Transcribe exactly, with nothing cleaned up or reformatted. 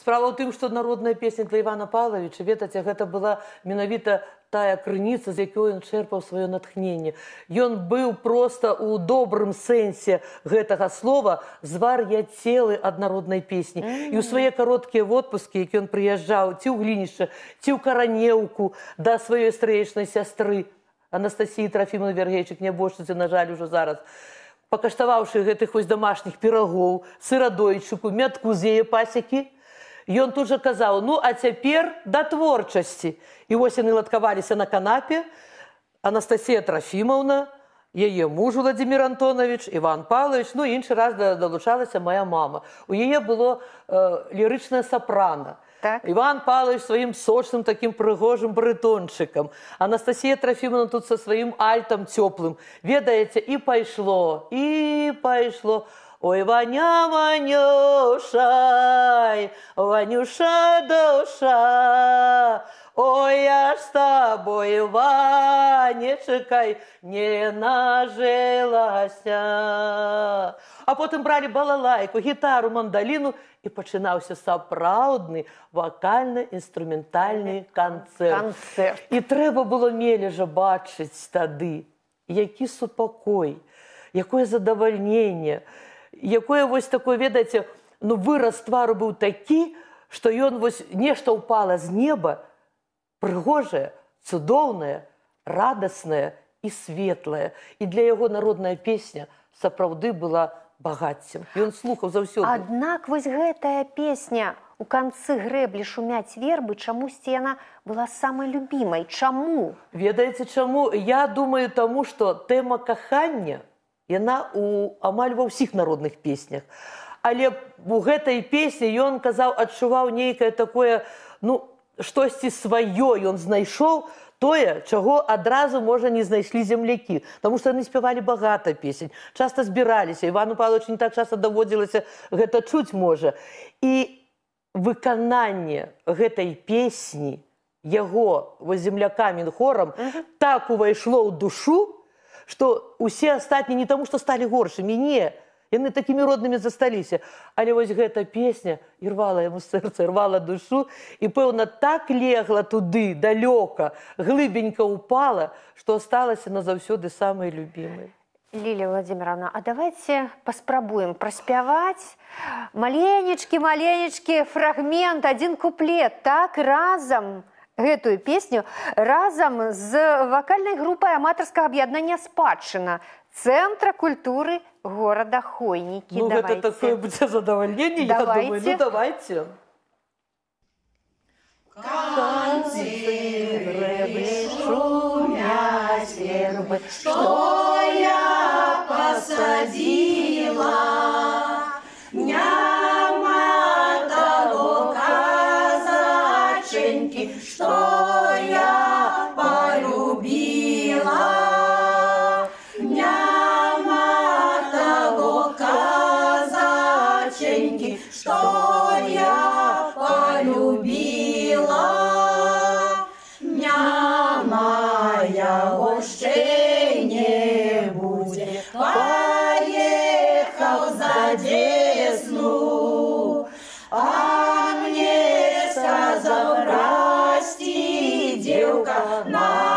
Справа ў тым, што народная песня для Івана Павловича, ведаце, гэта была менавіта тая крыніца, з якой ён чэрпаў сваё натхненне. Ён быў проста ў добрым сэнсе гэтага слова звар'яцелы ад народнай песні. Mm -hmm. І ў свае кароткія водпускі, які ён прыязджаў ці ў Глінішча, ці ў Каранеўку да сваёй стрэечнай сястры Анастасіі Трафімовны Вергейчык, нябожчыцы, на жаль, ужо зараз, пакаштаваўшы гэтых вось домашніх пірагоў, сырадойчыку, мятку з яе пасекі, ён тут жа казаў: ну, а цяпер да творчасці. І вось яны ладкаваліся на канапе. Анастасія Трафімаўна, яе муж Владзімір Антонович, Іван Павлович, ну, іншы раз далучалася моя мама. У яе было э, лірычнае сапрана. Так. Іван Павлович сваім сочным такім прыгожым барытончыкам. Анастасія Трафімовна тут са сваім альтам цёплым. Ведаеце, і пайшло, і пайшло. Ой, Ваня, Ванюшай, Ванюша душа, ой, я ж с тобой, Ванечкай, не нажилася. А потым бралі балалайку, гітару, мандаліну, і пачынаўся сапраўдны вакальна-інструментальны канцэрт. Канцэрт. І трэба было мележа бачыць тады, які супакой, якое задавальненне, якое вось такое, ведаеце, ну, выраз твару быў такі, што ён вось нешта ўпала з неба, прыгожае, цудоўнае, радаснае і светлае. І для яго народная песня сапраўды была багаццем. Ён слухаў заўсёды. Аднак вось гэтая песня у канцы грэблі шумяць вербы, чамусьці яна была самай любімай. Чаму? Ведаеце, чаму? Я думаю, таму, што тэма кахання, яна у амаль ва ўсіх народных песнях. Але у гэтай песні ён казаў, адчуваў нейкае такое, ну, штосьці сваё ён знайшоў, тое, чаго адразу, можа, не знайшлі землякі. Таму што яны спявалі багата песень, часта збіраліся. Івану Павловичу не так часта даводзілася гэта чуць, можа. І выкананне гэтай песні яго землякамі, хорам, так увайшло ў душу, што усе астатнія не таму, што сталі горшымі, не. Яны такімі роднымі засталіся. Але вось гэта песня ірвала яму сэрца, ірвала душу, і, пэўна, так легла туды, далёка, глыбенька ўпала, што асталася назаўсёды самай любімай. Лілія Владимировна, а давайте паспрабуем праспяваць маленечкі-маленечкі фрагмент, адзін куплет, так, разам, гэтую песню, разам з вакальнай групай аматарскага аб'яднання «Спадчына» Центра культуры горада Хойнікі. Ну, гэта такое будзе задавальненне, я думаю. Ну, давайте. Канцы грэблі шумяць вербы, што я пасадзіла, няма таго казачэнькі, што я полюбіла. Что я полюбила, няма яго ще не буде, поехал за Десну, а мне сказал: прости, девка, на